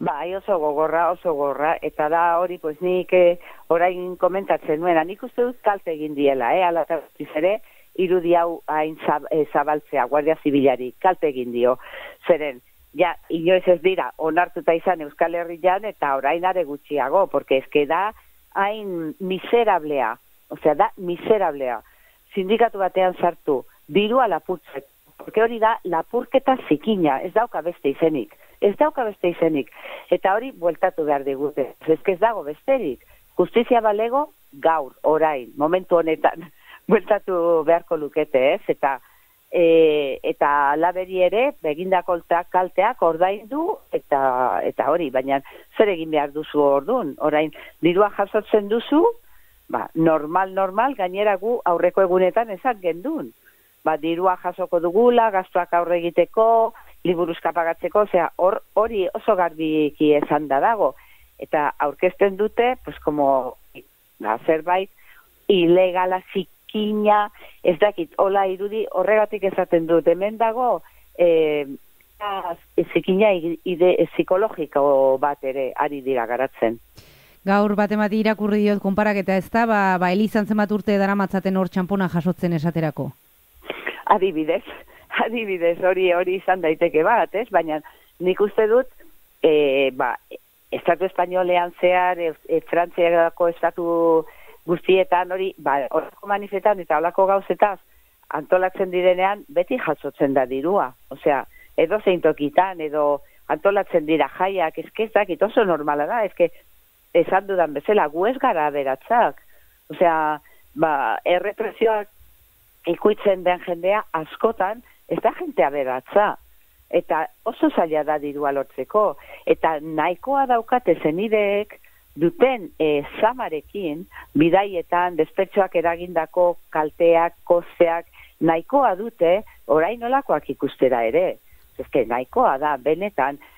Bai, oso gogorra, eta da hori, pues nik orain komentatzen nuena, nik uste dut kalte egin diela, ala eta guztiz ere, irudi hau hain zabaltzea, Guardia Zibilari, kalte egin dio, zeren, ja, inoiz ez dira, onartuta izan Euskal Herrian, eta orain are gutxiago, porque eske da hain miserablea, osea, da miserablea, sindikatu batean sartu, dirua lapurtzeko, porque hori da lapurketa zikina, ez dauka beste izenik, eta hori bueltatu behar digute, ez dago besterik, justizia balego gaur, orain, momentu honetan, bueltatu beharko lukete, ez, eta laberi ere, begindako kalteak ordaindu, eta hori, baina zer egin behar duzu orduan, orain, dirua jasotzen duzu, normal, gainera gu aurreko egunetan ezak gendun, dirua jasoko dugula, gastuak aurre egiteko, liburuzka pagatzeko, hori oso garbiki esan da dago, eta aurkezten dute, pues como, zerbait, ilegala zikina, ez dakit, hola irudi, horregatik esaten dut, hemen dago, zikina psikologiko bat ere ari dira garatzen. Gaur batemati irakurri diot konparaketa ez da, Elizan zenbat urte daramatzaten hor txampona jasotzen esaterako? Adibidez, hori izan daiteke bat, ez? Baina nik uste dut, Estatu Espainolean zehar, Frantziako estatu guztietan hori, horako manifetan eta horako gauzetaz antolatzen direnean, beti jasotzen da dirua. Osea, edo zeintokitan, edo antolatzen dira jaiak, ezkezak, oso normala da, esan dudan bezala, gu ez gara aberatzak. Osea, errepresioak ikuitzen den jendea askotan, ez da jente aberatza. Eta oso zaila da dirua lortzeko. Eta nahikoa daukate zenideek duten zamarekin, bidaietan, despetxoak eragindako kalteak, kosteak, nahikoa dute orain nolakoak ikustera ere. Nahikoa da, benetan,